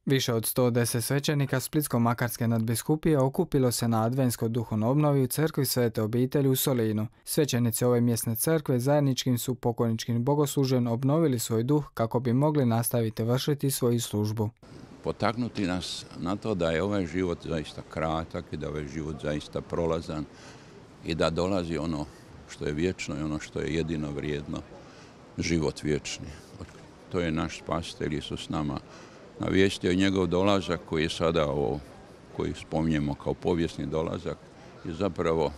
Više od 110 svećenika Splitsko-makarske nadbiskupije okupilo se na adventskoj duhovnoj obnovi u crkvi Svete obitelji u Solinu. Svećenici ove mjesne crkve zajedničkim su pokojničkim bogoslužjem obnovili svoj duh kako bi mogli nastaviti vršiti svoju službu. Potaknuti nas na to da je ovaj život zaista kratak i da je ovaj život zaista prolazan i da dolazi ono što je vječno i ono što je jedino vrijedno, život vječni. To je naš spasitelj Isus nama navijestio, njegov dolazak koji je sada koji spominjemo kao povijesni dolazak je zapravo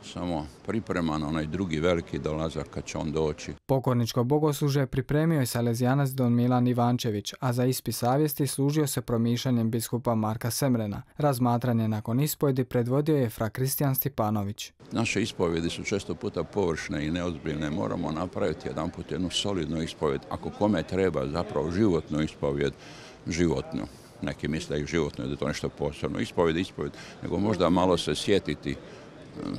samo pripreman onaj drugi veliki dolazak kad će on doći. Pokorničko bogoslužje pripremio je salezijanac don Milan Ivančević, a za ispis savjesti služio se promišljanjem biskupa Marka Semrena. Razmatranje nakon ispovjedi predvodio je fra Kristijan Stipanović. Naše ispovjedi su često puta površne i neozbiljne. Moramo napraviti jedanput jednu solidnu ispovjed. Ako kome treba zapravo životnu ispovjed, životnu. Neki misle i životno da je to nešto posebno. Ispovjed, nego možda malo se sjetiti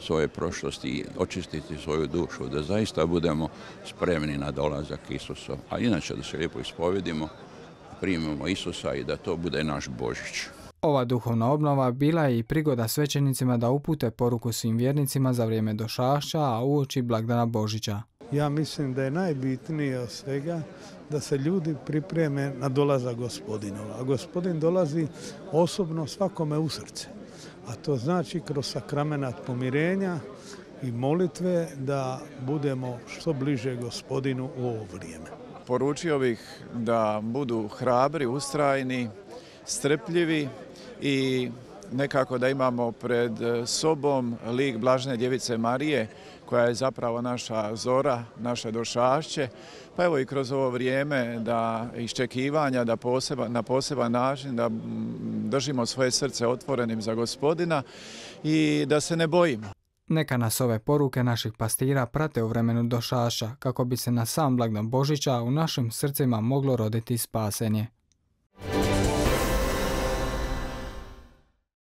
svoje prošlosti i očistiti svoju dušu, da zaista budemo spremni na dolazak Isusa. A inače da se lijepo ispovjedimo, primimo Isusa i da to bude naš Božić. Ova duhovna obnova bila je i prigoda svećenicima da upute poruku svim vjernicima za vrijeme došašća, a uoči blagdana Božića. Ja mislim da je najbitnije od svega da se ljudi pripreme na dolazak Gospodinova. A Gospodin dolazi osobno svakome u srce. A to znači kroz sakramenat pomirenja i molitve da budemo što bliže Gospodinu u ovo vrijeme. Poručio bih da budu hrabri, ustrajni, strpljivi i nekako da imamo pred sobom lik Blažene djevice Marije, koja je zapravo naša zora, naše došašće. Pa evo i kroz ovo vrijeme da iščekivanja, da na poseban način da držimo svoje srce otvorenim za Gospodina i da se ne bojimo. Neka nas ove poruke naših pastira prate u vremenu došaša, kako bi se na sam blagdan Božića u našim srcima moglo roditi spasenje.